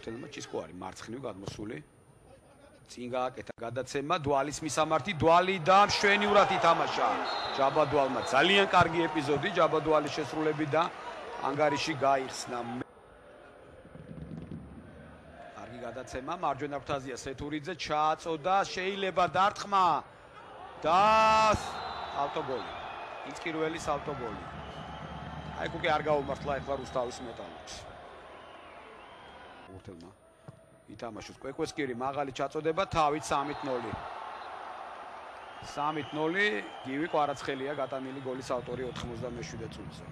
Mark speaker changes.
Speaker 1: ურთელმა ჭისკო არის მარცხნივ გადმოსული. წინ გააკეთა გადაცემა, დვალის მისამართი, დვალი და მშვენივრად ითამაშა ჯაბადვალმა. ძალიან კარგი ეპიზოდი ჯაბადვალის შესრულებით და ანგარიში გაიხსნა. კარგი გადაცემა, მარჯვენა ფრთაზეა სეთურიძე, ჩააწოდა, შეიძლება დარტყმა და ავტოგოლი. იცკირველის ავტოგოლი. აი უკვე არ გაუმართლა ახლა რუსთავის მეტალურგს. ურთელმა ითამაშოს კვეკვესკირი მაღალი ჩაწოდება თავით 3-0. 3-0 გივი კვარაცხელია გატანილი გოლის ავტორი 97 წუთზე.